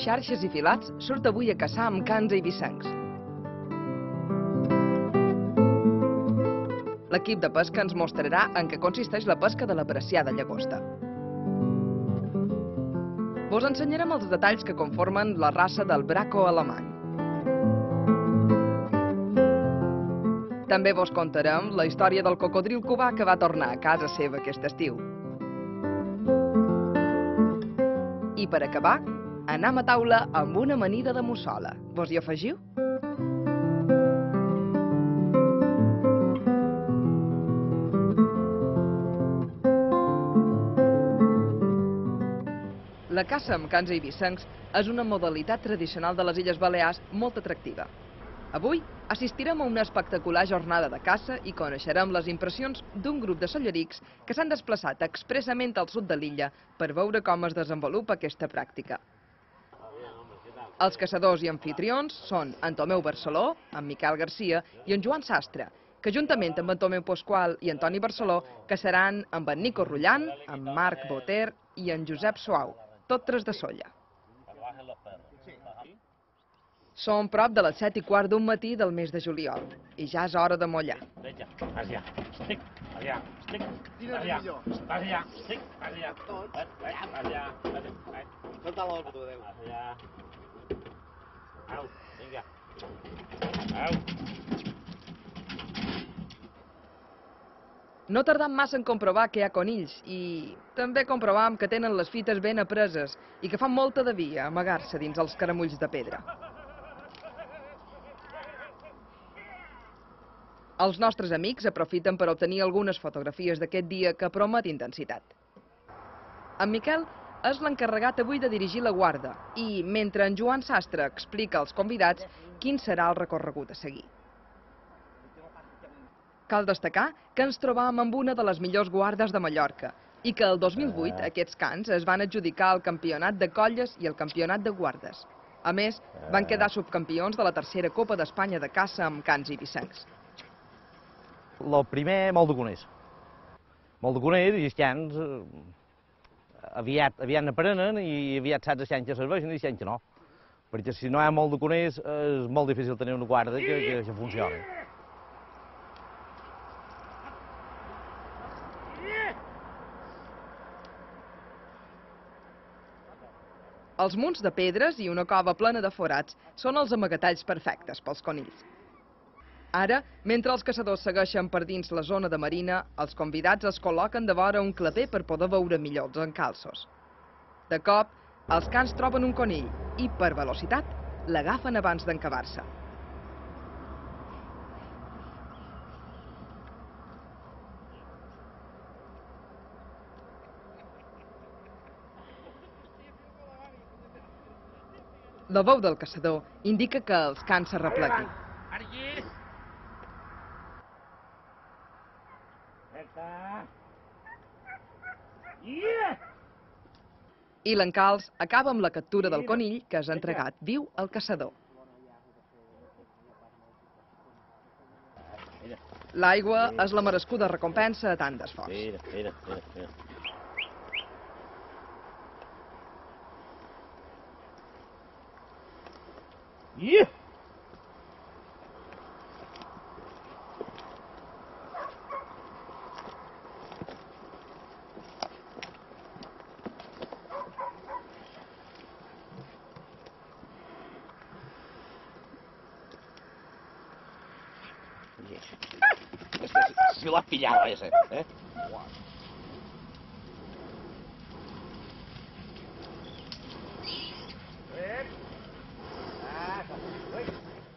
xarxes i filats surt avui a caçar amb cans eivissencs. L'equip de pesca ens mostrarà en què consisteix la pesca de l'apreciada llagosta. Vos ensenyarem els detalls que conformen la raça del braco alemany. També vos contarem la història del cocodril cubà que va tornar a casa seva aquest estiu. I per acabar, anam a taula amb una amanida de mussola. Vos hi afegiu? La caça amb cans eivissencs és una modalitat tradicional de les Illes Balears molt atractiva. Avui assistirem a una espectacular jornada de caça i coneixerem les impressions d'un grup de sollerics que s'han desplaçat expressament al sud de l'illa per veure com es desenvolupa aquesta pràctica. Els caçadors i anfitrions són en Tomeu Barceló, en Miquel Garcia i en Joan Sastre, que juntament amb en Tomeu Pasqual i Antoni Barceló caçaran amb en Nico Rullant, en Marc Boter i en Josep Suau, tots tres de Sóller. Som prop de les 7:15 d'un matí del mes de juliol i ja és hora de mollar. Allà, estic, allà, estic, allà, allà, estic, allà, tot, allà, tot a l'hora, tu, adéu. Allà. Au, vinga. Au. No tardam massa en comprovar que hi ha conills i també comprovam que tenen les fites ben apreses i que fan molta de via amagar-se dins els caramulls de pedra. Els nostres amics aprofiten per obtenir algunes fotografies d'aquest dia que promet intensitat. En Miquel és l'encarregat avui de dirigir la guarda i, mentre en Joan Sastre explica als convidats quin serà el recorregut a seguir. Cal destacar que ens trobam amb una de les millors guardes de Mallorca i que el 2008 aquests cans es van adjudicar al campionat de colles i al campionat de guardes. A més, van quedar subcampions de la tercera Copa d'Espanya de caça amb cans eivissencs. El primer, molt de coneix. Molt de coneix i els cans aviat n'aprenen i aviat saps els cans que serveixen i els cans que no. Perquè si no hi ha molt de coneix és molt difícil tenir una guarda que funcioni. Els munts de pedres i una cova plena de forats són els amagatalls perfectes pels conills. Ara, mentre els caçadors segueixen per dins la zona de marina, els convidats es col·loquen de vora un claper per poder veure millor els encalços. De cop, els cans troben un conill i, per velocitat, l'agafen abans d'encavar-se. La veu del caçador indica que els cans s'arrepleguin. I l'encalç acaba amb la captura del conill que és entregat viu al caçador. L'aigua és la merescuda recompensa a tant d'esforç. Mira. Si lo has pillado ese, ¿eh?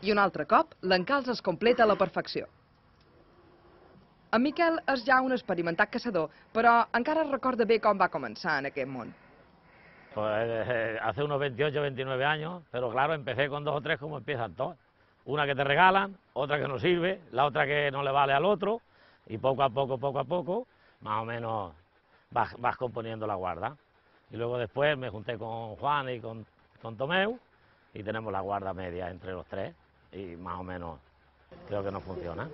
I un altre cop, l'encalç es completa a la perfecció. En Miquel és ja un experimentat caçador, però encara recorda bé com va començar en aquest món. Pues hace unos 28, 29 años, pero claro, empecé con 2 o 3 como empiezan todos. Una que te regalan, otra que no sirve, la otra que no le vale al otro, y poco a poco, más o menos vas componiendo la guarda. Y luego después me junté con Juan y con Tomeu, y tenemos la guarda media entre los tres, y más o menos creo que nos funciona.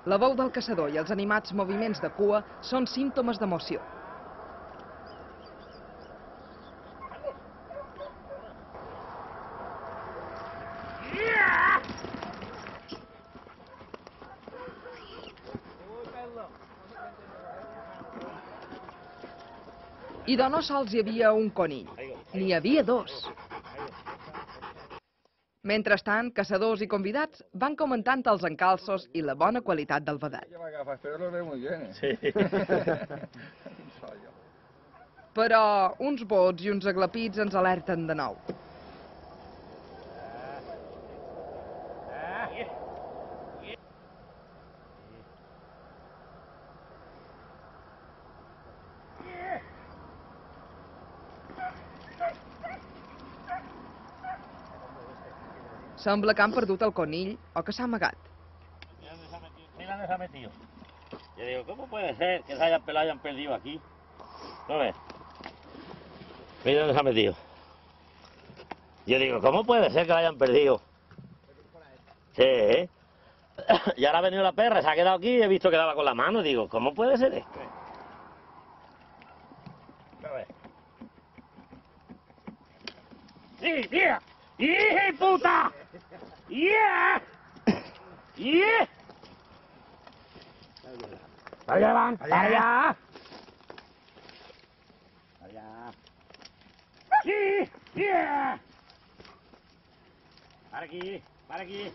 La veu del caçador i els animats moviments de cua són símptomes d'emoció. I de no sols hi havia un conill, n'hi havia dos. Mentrestant, caçadors i convidats van comentant els encalços i la bona qualitat del vedet. Però uns bots i uns aglapits ens alerten de nou. Sembla que han perdut el conill o que s'ha amagat. Mira dónde se ha metido. Yo digo, ¿cómo puede ser que se hayan pelado y hayan perdido aquí? ¿No ves? Mira dónde se ha metido. Yo digo, ¿cómo puede ser que lo hayan perdido? Sí, ¿eh? Y ahora ha venido la perra, se ha quedado aquí y he visto que daba con la mano. Digo, ¿cómo puede ser esto? A ver. ¡Sí, tía! ¡Hija puta! ¡Yeah! ¡Yeah! ¡Allá van! ¡Allá! ¡Allá! ¡Sí! ¡Yeah! ¡Para aquí! ¡Para aquí!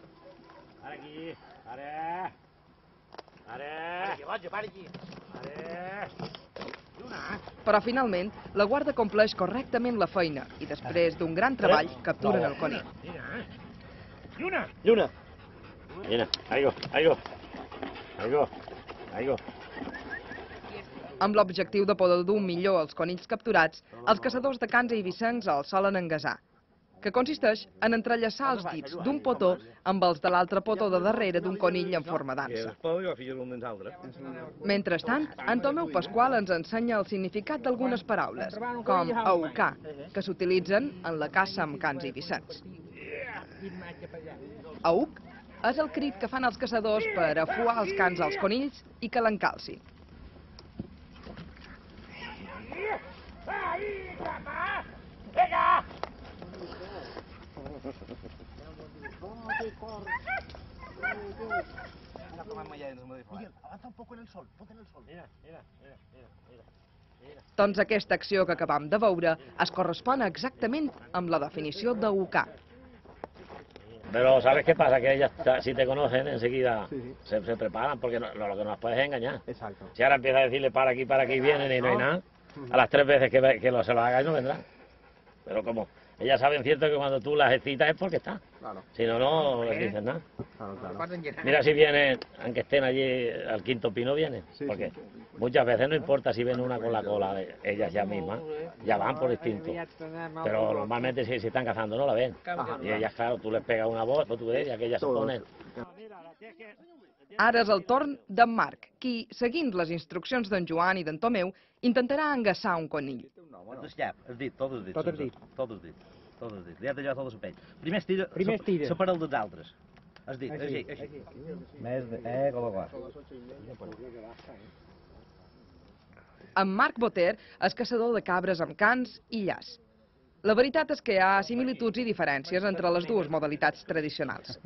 ¡Para aquí! ¡Para! ¡Para! ¡Para aquí! ¡Para! Però finalment, la guarda compleix correctament la feina i després d'un gran treball capturen el conill. ¡Lluna! ¡Lluna! Mira, ahí go, ahí go. Ahí go, ahí go. Amb l'objectiu de poder dur millor els conills capturats, els caçadors de cans i eivissencs els solen engasar, que consisteix en entrellaçar els dits d'un potó amb els de l'altre potó de darrere d'un conill en forma d'ansa. Mentrestant, en Tomeu Pasqual ens ensenya el significat d'algunes paraules, com aucar, que s'utilitzen en la caça amb cans i eivissencs. Auc és el crit que fan els caçadors per afuar els cans als conills i que l'encalcin. Doncs aquesta acció que acabam de veure es correspon exactament amb la definició d'aucar. Pero ¿sabes qué pasa? Que ellas, si te conocen, enseguida se preparan, porque lo que nos puedes engañar. Exacto. Si ahora empiezas a decirle para aquí, vienen y no hay nada, a las 3 veces que se lo hagas no vendrán. Pero como ellas saben cierto que cuando tú las excitas es porque está. Claro. Si no, no les dices nada. Claro, claro. Mira si vienen, aunque estén allí al quinto pino, vienen. Porque muchas veces no importa si ven una con la cola de ellas ya mismas, ya van por instinto. Pero normalmente si están cazando no la ven. Y ellas, claro, tú les pegas una voz, tú ves, y aquellas se ponen. Ara és el torn d'en Marc, qui, seguint les instruccions d'en Joan i d'en Tomeu, intentarà engassar un conill. El dit, tot el dit. Tot el dit. Tot el dit. Tot el dit. Li ha tallat tot el pell. Primer estira, estira. separa el dels altres. El dit, així. Més, com va. En Marc Boter és caçador de cabres amb cans i llaç. La veritat és que hi ha similituds i diferències entre les dues modalitats tradicionals.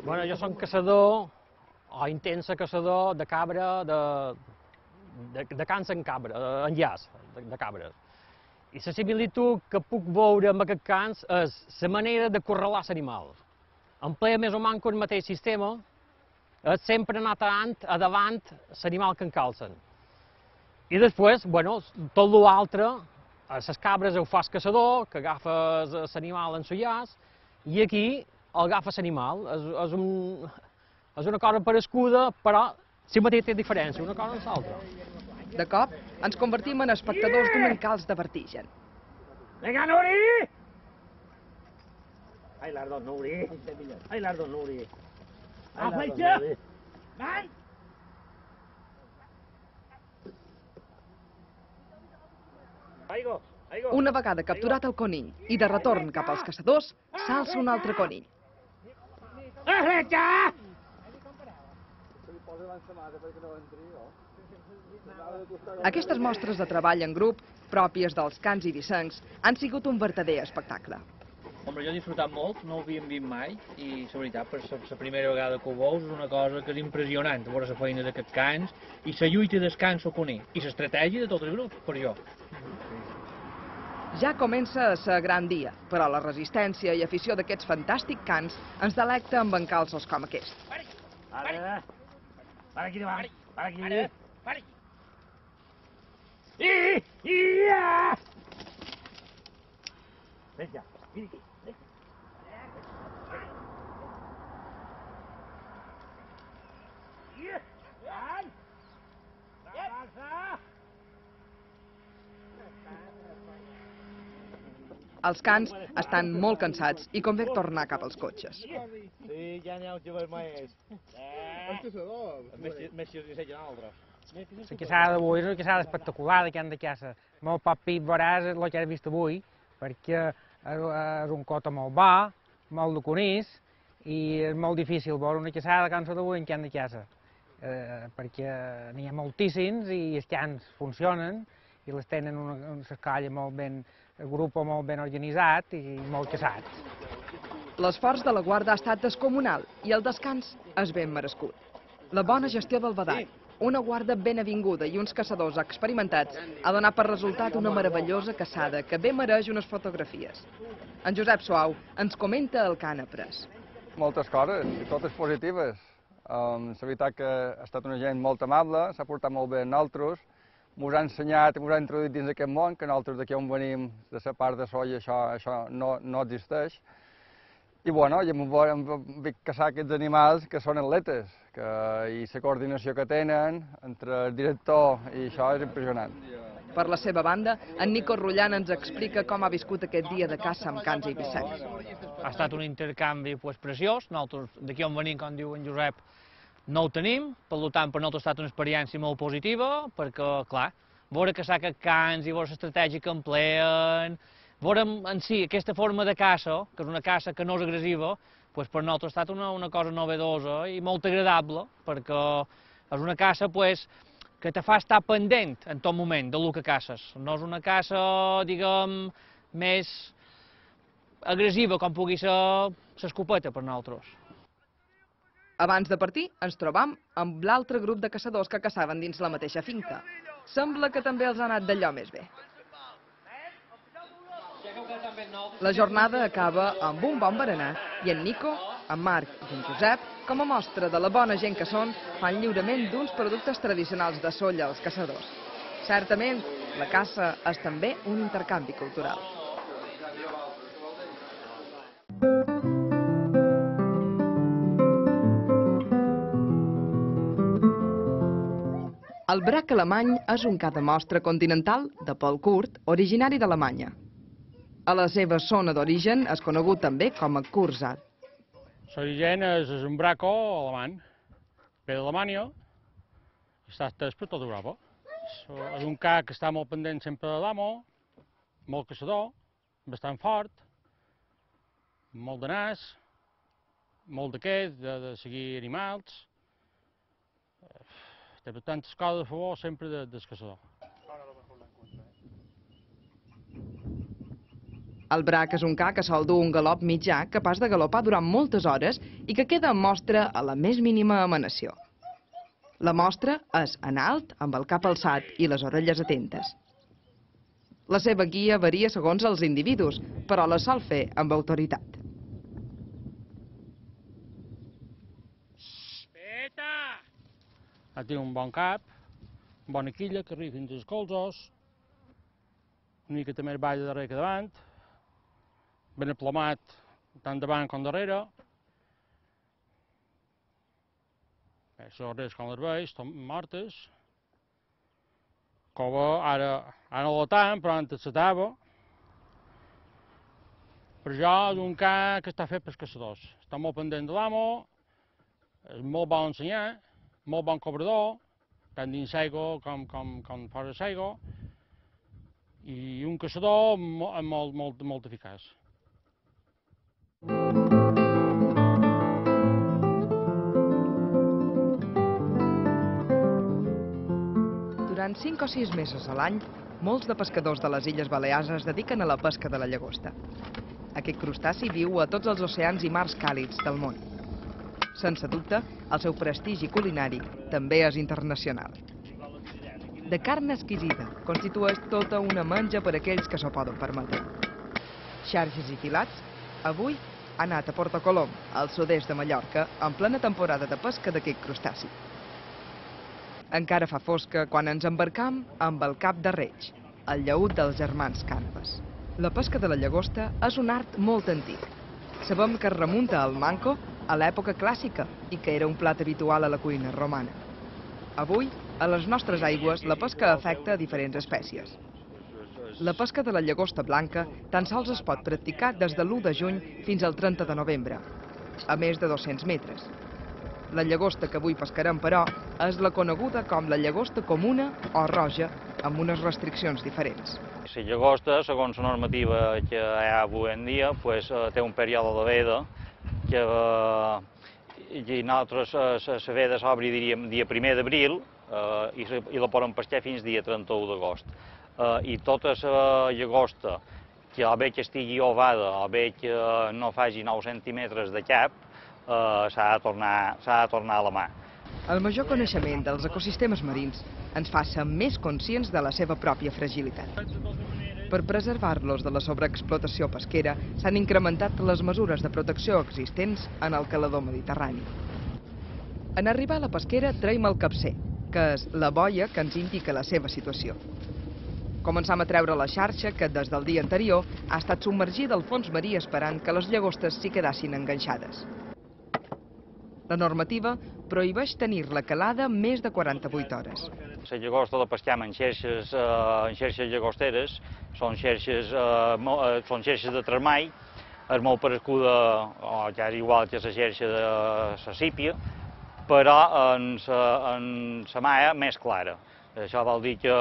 Bueno, jo soc caçador, o intensa caçador de cabra, de cans en cabra, en llaç, de cabres. I la similitud que puc veure amb aquests cans és la manera de correlar l'animal. Emplea més o menys el mateix sistema, és sempre anar a davant l'animal que encalcen. I després, bueno, tot l'altre, a les cabres ho fa el caçador, que agafa l'animal en el llaç, i aquí el agafa l'animal. És una cosa parescuda, però si mateix té diferència, una cosa amb l'altra. De cop, ens convertim en espectadors d'un encalç de vertigen. ¡Venga, Nuri! ¡Ay, las dos Nuri! ¡Ay, las dos Nuri! ¡A fletxa! ¡Vai! Una vegada capturat el conill i de retorn cap als caçadors, s'alça un altre conill. ¡A fletxa! Aquestes mostres de treball en grup, pròpies dels cans eivissencs, han sigut un verdader espectacle. Home, jo he disfrutat molt, no ho havíem vist mai, i la veritat, per la primera vegada que ho veus, és una cosa que és impressionant, veure la feina d'aquests cans, i la lluita dels cans ho coneix, i l'estratègia de tot el grup, per jo. Ja comença a ser gran dia, però la resistència i afició d'aquests fantàstics cans ens delecta amb encalços com aquest. Para aquí davant, para aquí. Pari! Vinga, vine aquí. Els cans estan molt cansats i convé tornar cap als cotxes. Sí, ja n'hi ha un jovent més. Més si us ensenyen altres. La caçada d'avui és una caçada espectacular de can de caça. Molt poc pit veuràs el que has vist avui, perquè és un cota molt bo, molt de conís, i és molt difícil veure una caçada de cansa d'avui en can de caça. Perquè n'hi ha moltíssims i els cans funcionen i les tenen una escolla molt ben, el grup molt ben organitzat i molt caçats. L'esforç de la guarda ha estat descomunal i el descans és ben merescut. La bona gestió del badall, una guarda ben avinguda i uns caçadors experimentats ha donat per resultat una meravellosa caçada que bé mereix unes fotografies. En Josep Suau ens comenta el que han après. Moltes coses, i totes positives. La veritat que ha estat una gent molt amable, s'ha portat molt bé amb nosaltres, ens ha ensenyat, ens ha introduït dins d'aquest món, que nosaltres d'aquí on venim, de la part de soia, això no existeix. I bueno, hem vist caçar aquests animals que són atletes, i la coordinació que tenen entre el director i això és impressionant. Per la seva banda, en Nico Rullan ens explica com ha viscut aquest dia de caça amb cans eivissencs. Ha estat un intercanvi preciós, nosaltres d'aquí on venim, com diu en Josep, no ho tenim, per tant per nosaltres ha estat una experiència molt positiva, perquè, clar, veure caçar aquests cans i veure l'estratègia que empleen, veure en si aquesta forma de caça, que és una caça que no és agressiva, per nosaltres ha estat una cosa novedosa i molt agradable, perquè és una caça que te fa estar pendent en tot moment del que caces. No és una caça, diguem, més agressiva com pugui ser l'escopeta per nosaltres. Abans de partir, ens trobam amb l'altre grup de caçadors que caçaven dins la mateixa finca. Sembla que també els ha anat d'allò més bé. La jornada acaba amb un bon berenar i en Nico, en Marc i en Josep, com a mostra de la bona gent que són, fan lliurament d'uns productes tradicionals de Sóller als caçadors. Certament, la caça és també un intercanvi cultural. El brac alemany és un ca de mostra continental de pèl curt, originari d'Alemanya. A la seva zona d'origen és conegut també com a Kurzar. L'origen és un braco alemany, ve d'Alemanya i està estès per tota Europa. És un ca que està molt pendent sempre de l'amo, molt caçador, bastant fort, molt de nas, molt d'aquest, de seguir animals. Té tantes coses a favor sempre del caçador. El brac és un ca que sol dur un galop mitjà, capaç de galopar durant moltes hores i que queda en mostra a la més mínima emanació. La mostra és en alt, amb el cap alçat i les orelles atentes. La seva guia varia segons els individus, però la sol fer amb autoritat. Té un bon cap, bona quilla que arriba fins als colzos, una mica també ball de darrere que davant, ben aplomat tant davant com darrere. Les orelles com les veus, estan mortes. Cova ara no la tant, però antes se tava. Per això és un ca que està fet pels caçadors. Està molt pendent de l'amo, és molt bon ensenyar, molt bon cobrador, tant dins l'aigua com fora l'aigua, i un caçador molt eficaç. Durant 5 o 6 mesos a l'any, molts de pescadors de les Illes Balears es dediquen a la pesca de la llagosta. Aquest crustaci viu a tots els oceans i mars càlids del món. Sense dubte, el seu prestigi culinari també és internacional. De carn exquisida, constitueix tota una menja per a aquells que s'ho poden permetre. Xarxes i filats, avui ha anat a Porto Colom, al sud-est de Mallorca, en plena temporada de pesca d'aquest crustaci. Encara fa fosca quan ens embarcam amb el cap de Reig, el llaüt dels germans Canves. La pesca de la llagosta és un art molt antic. Sabem que es remunta al manco a l'època clàssica i que era un plat habitual a la cuina romana. Avui, a les nostres aigües, la pesca afecta a diferents espècies. La pesca de la llagosta blanca tan sols es pot practicar des de l'1 de juny fins al 30 de novembre, a més de 200 metres. La llagosta que avui pescarem, però, és la coneguda com la llagosta comuna o roja, amb unes restriccions diferents. La llagosta, segons la normativa que hi ha avui en dia, té un període de veda i nosaltres la veda s'obri, diríem, dia 1 d'abril i la poden pescar fins dia 31 d'agost. I tota la llagosta, que o bé que estigui ovada o bé que no faci 9 centímetres de cap, s'ha de tornar a la mà. El major coneixement dels ecosistemes marins ens fa ser més conscients de la seva pròpia fragilitat. Per preservar-los de la sobreexplotació pesquera s'han incrementat les mesures de protecció existents en el calador mediterrani. En arribar a la pesquera traiem el capcer, que és la boia que ens indica la seva situació. Començam a treure la xarxa que des del dia anterior ha estat submergida al fons marí esperant que les llagostes s'hi quedassin enganxades. La normativa prohibeix tenir-la calada més de 48 hores. La llagosta la pescam en xarxes llagosteres, són xarxes de tremall, és molt parescuda, o ja és igual que la xarxa de la sípia, però en la maia més clara. Això vol dir que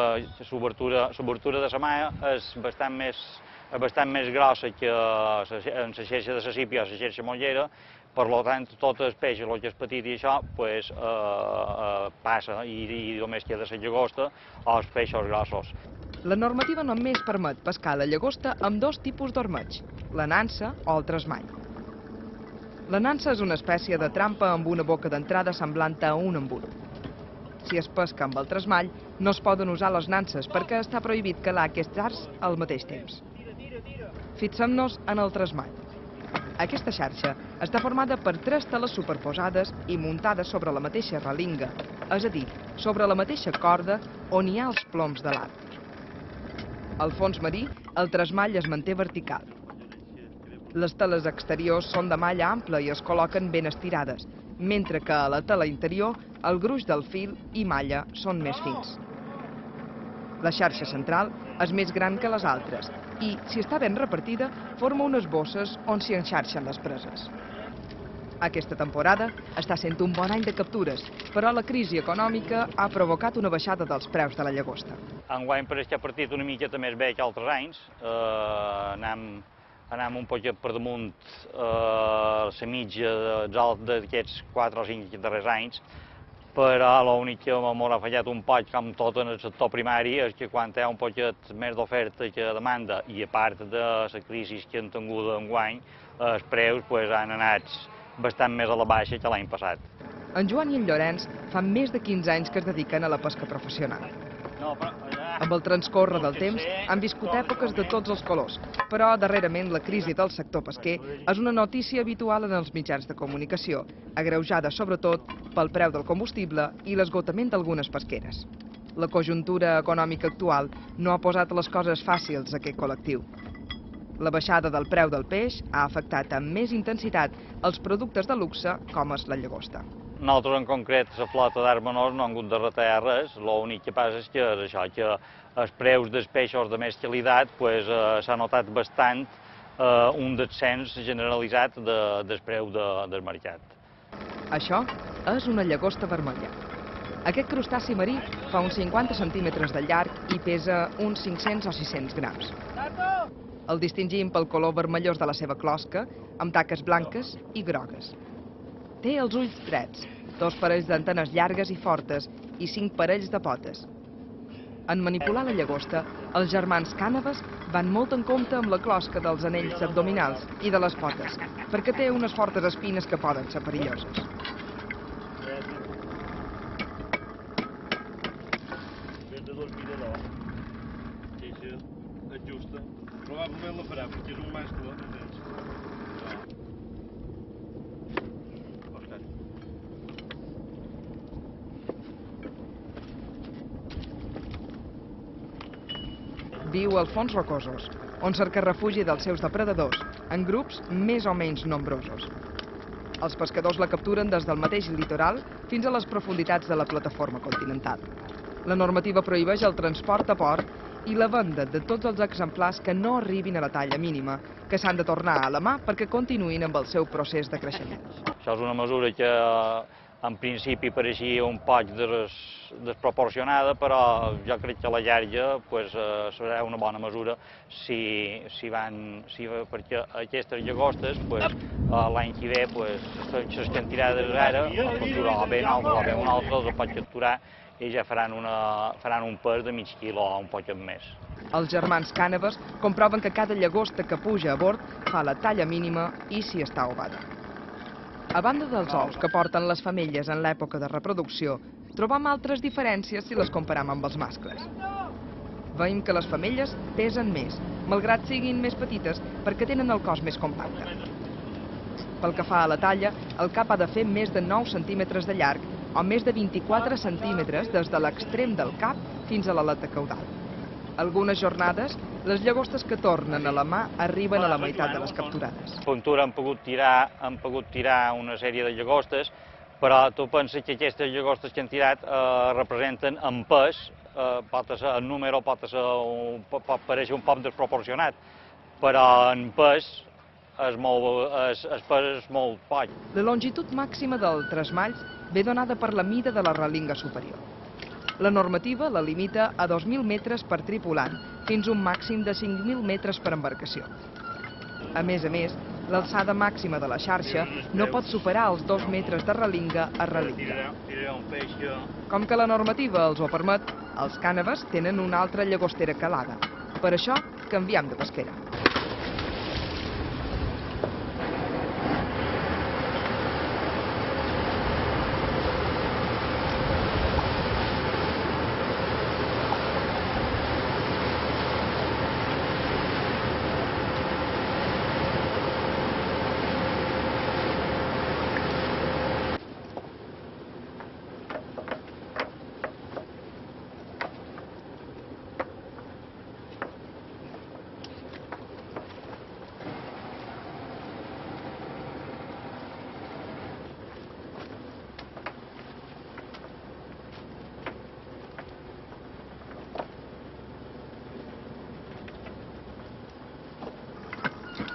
l'obertura de la maia és bastant més grossa que en la xarxa de la sípia o la xarxa mollera. Per tant, tot el peix, el que és petit i això, passa i només queda la llagosta o els peixos grossos. La normativa només permet pescar la llagosta amb 2 tipus d'ormeig, la nansa o el tresmall. La nansa és una espècie de trampa amb una boca d'entrada semblant a un embut. Si es pesca amb el tresmall, no es poden usar les nanses perquè està prohibit calar aquests arts al mateix temps. Fixem-nos en el tresmall. Aquesta xarxa està formada per 3 teles superposades i muntades sobre la mateixa relinga, és a dir, sobre la mateixa corda on hi ha els ploms de l'arc. Al fons marí, el tresmall es manté vertical. Les teles exteriors són de malla ampla i es col·loquen ben estirades, mentre que a la tela interior el gruix del fil i malla són més fins. La xarxa central és més gran que les altres i, si està ben repartida, forma unes bosses on s'hi enxarxen les preses. Aquesta temporada està sent un bon any de captures, però la crisi econòmica ha provocat una baixada dels preus de la llagosta. Enguany pareix que ha partit una miqueta més bé que altres anys. Anem un poquet per damunt la mitja d'aquests 4 o 5 darrers anys, però l'únic que m'ha fallat un poc, com tot en el sector primari, és que quan hi ha un poquet més d'oferta que demanda, i a part de la crisi que han tingut enguany, els preus han anat bastant més a la baixa que l'any passat. En Joan i en Llorenç fa més de 15 anys que es dediquen a la pesca professional. Amb el transcórrer del temps han viscut èpoques de tots els colors, però darrerament la crisi del sector pesquer és una notícia habitual en els mitjans de comunicació, agreujada sobretot pel preu del combustible i l'esgotament d'algunes pesqueres. La conjuntura econòmica actual no ha posat les coses fàcils a aquest col·lectiu. La baixada del preu del peix ha afectat amb més intensitat els productes de luxe com és la llagosta. Nosaltres, en concret, la flota d'arts menors no han hagut de retallar res. L'únic que passa és que els preus dels peixos de més qualitat s'ha notat bastant un descens generalitzat del preu del mercat. Això és una llagosta vermella. Aquest crustaci marí fa uns 50 centímetres de llarg i pesa uns 500 o 600 grams. El distingim pel color vermellós de la seva closca, amb taques blanques i grogues. Té els ulls drets, 2 parells d'antenes llargues i fortes i 5 parells de potes. En manipular la llagosta, els germans Cànoves van molt en compte amb la closca dels anells abdominals i de les potes, perquè té unes fortes espines que poden ser perilloses. Probablement la farà, perquè és un mascle, entens? Viu als fons rocosos, on cerca refugi dels seus depredadors, en grups més o menys nombrosos. Els pescadors la capturen des del mateix litoral fins a les profunditats de la plataforma continental. La normativa prohibeix el transport a port i la venda de tots els exemplars que no arribin a la talla mínima, que s'han de tornar a la mà perquè continuïn amb el seu procés de creixement. Això és una mesura que en principi pareixia un poc desproporcionada, però jo crec que a la llarga serà una bona mesura perquè aquestes llagostes l'any que ve les quantitats ara capturar bé o bé un altre els pot capturar i ja faran un pes de mig quilo o un poc més. Els germans Cànoves comproven que cada llagosta que puja a bord fa la talla mínima i si està ovada. A banda dels ous que porten les femelles en l'època de reproducció, trobam altres diferències si les comparam amb els mascles. Veiem que les femelles pesen més, malgrat siguin més petites, perquè tenen el cos més compacte. Pel que fa a la talla, el cap ha de fer més de 9 centímetres de llarg o més de 24 centímetres des de l'extrem del cap fins a l'aleta caudal. Algunes jornades, les llagostes que tornen a la mà arriben a la meitat de les capturades. A Ventura han pogut tirar una sèrie de llagostes, però tu penses que aquestes llagostes que han tirat representen en pes, el número pot parèixer un poc desproporcionat, però en pes el pes és molt poc. La longitud màxima del tresmalls ve donada per la mida de la relinga superior. La normativa la limita a 2.000 metres per tripulant, fins a un màxim de 5.000 metres per embarcació. A més, l'alçada màxima de la xarxa no pot superar els 2 metres de relinga a relinga. Com que la normativa els ho permet, els Cànoves tenen una altra llagostera calada. Per això, canviem de pesquera.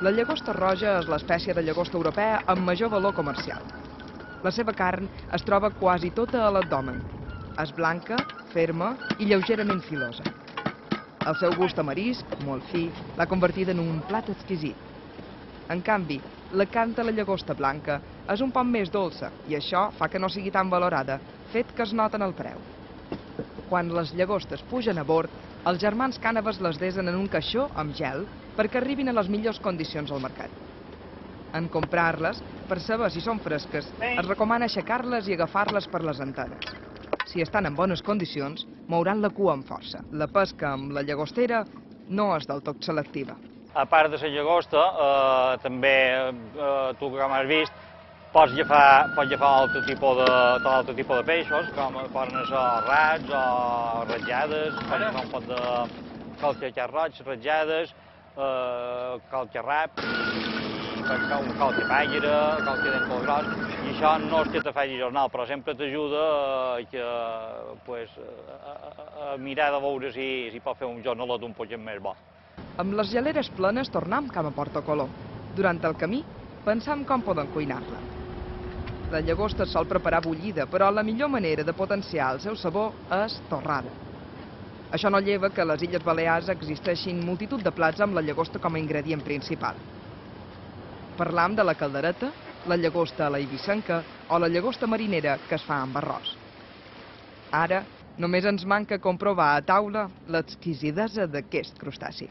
La llagosta roja és l'espècie de llagosta europea amb major valor comercial. La seva carn es troba quasi tota a l'abdomen. És blanca, ferma i lleugerament filosa. El seu gust amarisc, molt fi, l'ha convertida en un plat exquisit. En canvi, la carn de la llagosta blanca és un poc més dolça i això fa que no sigui tan valorada, fet que es nota en el preu. Quan les llagostes pugen a bord, els germans Cànoves les desen en un caixó amb gel perquè arribin a les millors condicions al mercat. En comprar-les, per saber si són fresques, es recomana aixecar-les i agafar-les per les antenes. Si estan en bones condicions, mouran la cua amb força. La pesca amb la llagostera no és del tot selectiva. A part de la llagosta, també, tu com has vist, pots agafar altre tipus de peixos, com poden ser rats o ratllades, pots agafar un pot de calquer roig, ratllades, calcarrap, un calcapàgera, calque dent molt gros, i això no és que te faci jornal, però sempre t'ajuda a mirar de veure si pot fer un jornalot un poc més bo. Amb les geleres plenes tornem cap a Porto Colom. Durant el camí, pensam com poden cuinar-la. La llagosta es sol preparar bullida, però la millor manera de potenciar el seu sabor és torrada. Això no lleva que a les Illes Balears existeixin multitud de plats amb la llagosta com a ingredient principal. Parlam de la caldereta, la llagosta a la eivissa o la llagosta marinera que es fa amb arròs. Ara, Només ens manca comprovar a taula l'exquisidesa d'aquest crustaci.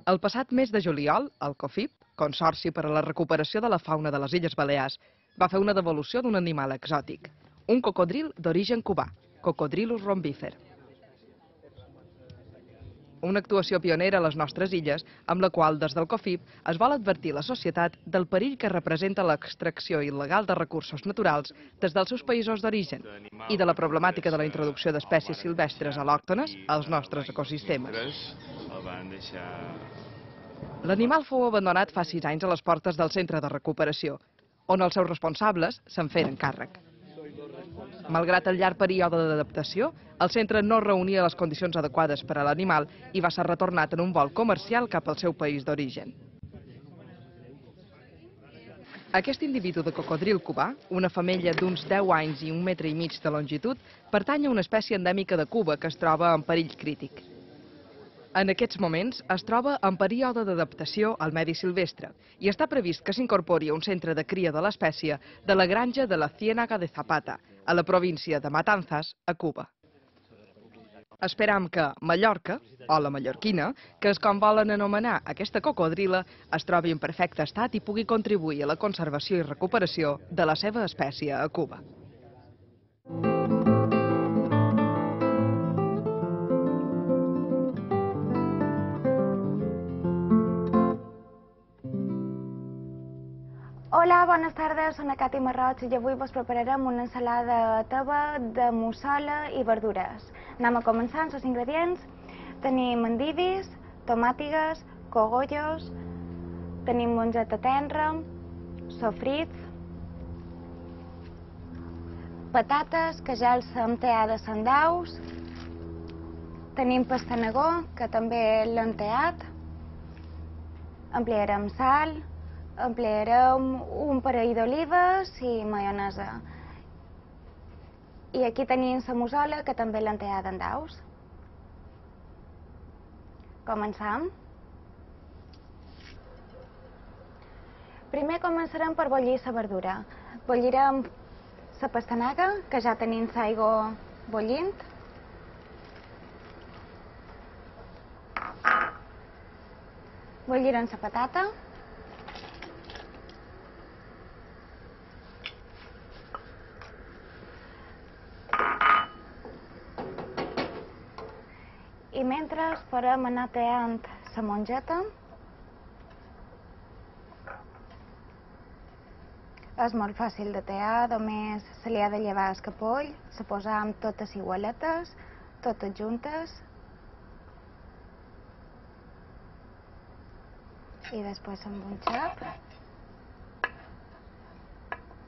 El passat mes de juliol, el COFIP, Consorci per a la Recuperació de la Fauna de les Illes Balears, va fer una devolució d'un animal exòtic, un cocodril d'origen cubà, Cocodrilus rhombifer. Una actuació pionera a les nostres illes, amb la qual, des del COFIP, es vol advertir la societat del perill que representa l'extracció il·legal de recursos naturals des dels seus països d'origen i de la problemàtica de la introducció d'espècies silvestres al·lòctones als nostres ecosistemes. L'animal fou abandonat fa 6 anys a les portes del centre de recuperació, on els seus responsables se'n feren càrrec. Malgrat el llarg període d'adaptació, el centre no reunia les condicions adequades per a l'animal i va ser retornat en un vol comercial cap al seu país d'origen. Aquest individu de cocodril cubà, una femella d'uns 10 anys i 1,5 metres de longitud, pertany a una espècie endèmica de Cuba que es troba en perill crític. En aquests moments es troba en període d'adaptació al medi silvestre i està previst que s'incorpori a un centre de cria de l'espècie de la granja de la Ciénaga de Zapata, a la província de Matanzas, a Cuba. Esperam que Mallorca, o la mallorquina, que és com volen anomenar aquesta cocodrila, es trobi en perfecte estat i pugui contribuir a la conservació i recuperació de la seva espècie a Cuba. Hola, bones tardes, soc la Cati Marroig i avui vos prepararem una ensalada teva de mussola i verdures. Anem a començar amb els ingredients. Tenim endivis, tomàtigues, cogollos, tenim mongeta tendra, sofrits, patates que ja els hem teades en daus, tenim pastanegó que també l'hem teat, emplearem sal, emplearem un parell d'olives i maionesa. I aquí tenim la mussola que també l'hem teada en daus. Comencem. Primer començarem per bullir la verdura. Bullirem la pastanaga, que ja tenim l'aigua bullint. Bullirem la patata. I mentre esperem anar teant la mongeta, és molt fàcil de tear, només se li ha de llevar el capoll, se posam totes igualetes, totes juntes, i després amb un xap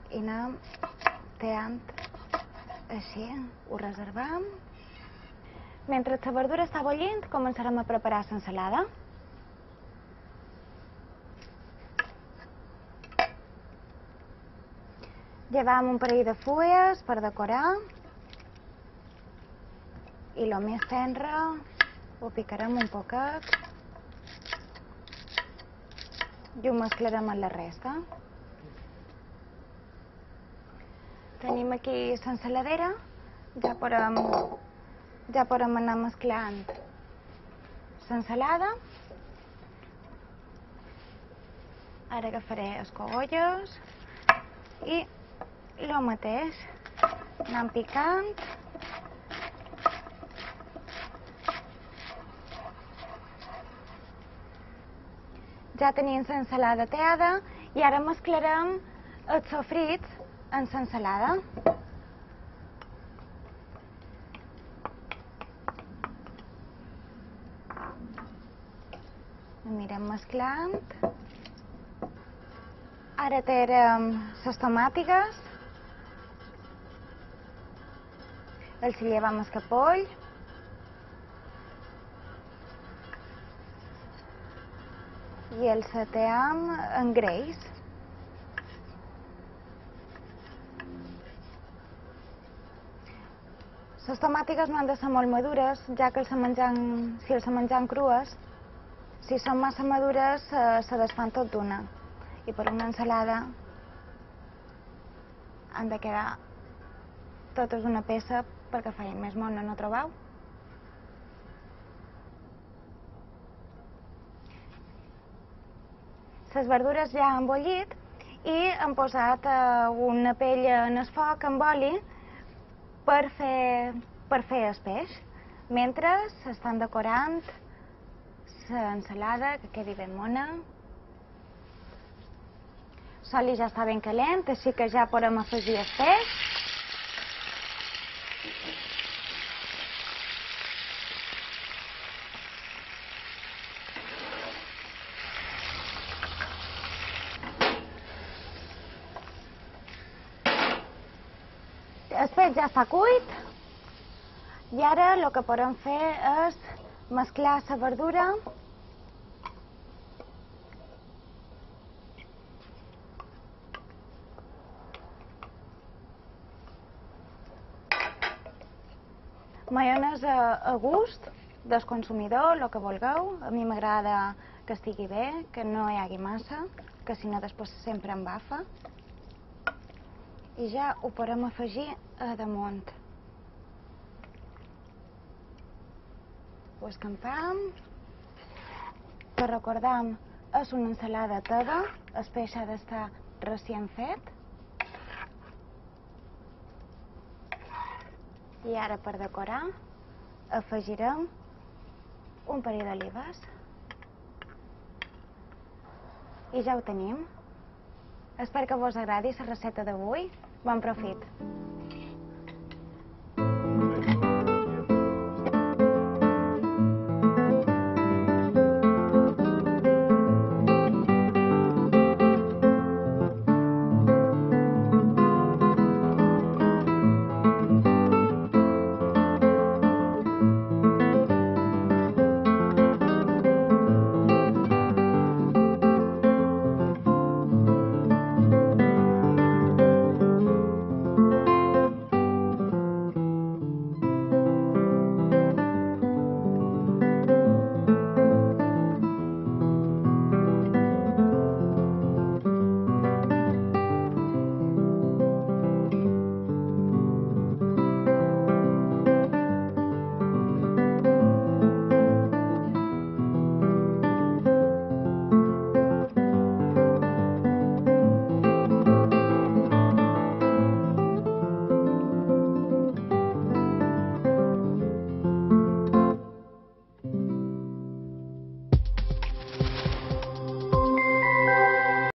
i anem teant així, ho reservam. Mentre la verdura està bullint, començarem a preparar l'ensalada. Llevam un parell de fulles per decorar i el més tendre ho picarem un poquet i ho mesclarem amb la resta. Tenim aquí l'ensaladera, ja podem anar mesclant l'ensalada. Ara agafaré els cogollos i el mateix, anem picant. Ja tenim l'ensalada teada i ara mesclarem els sofrits en l'ensalada. Anirem mesclant. Ara tirem les tomàtigues. Els llevam el capoll. I els sateam en greix. Les tomàtigues no han de ser molt madures, ja que si els mengem crues, si són massa madures se desfan tot d'una. I per una ensalada han de quedar totes una peça perquè feien més mona, no trobeu? Les verdures ja han bullit i hem posat una pella en el foc amb oli per fer el peix. Mentre s'estan decorant l'ensalada, que quedi ben mona. L'oli ja està ben calent, així que ja podem afegir el peix. El peix ja està cuit i ara el que podem fer és mesclar la verdura maionesa a gust del consumidor, el que vulgueu. A mi m'agrada que estigui bé, que no hi hagi massa, que si no després sempre embafa. I ja ho podem afegir a damunt. Ho escampam. Que recordam, és una ensalada teva, el peix ha d'estar recient fet. I ara per decorar afegirem un parell d'olives. I ja ho tenim. Espero que vos agradi la recepta d'avui. Bon profit!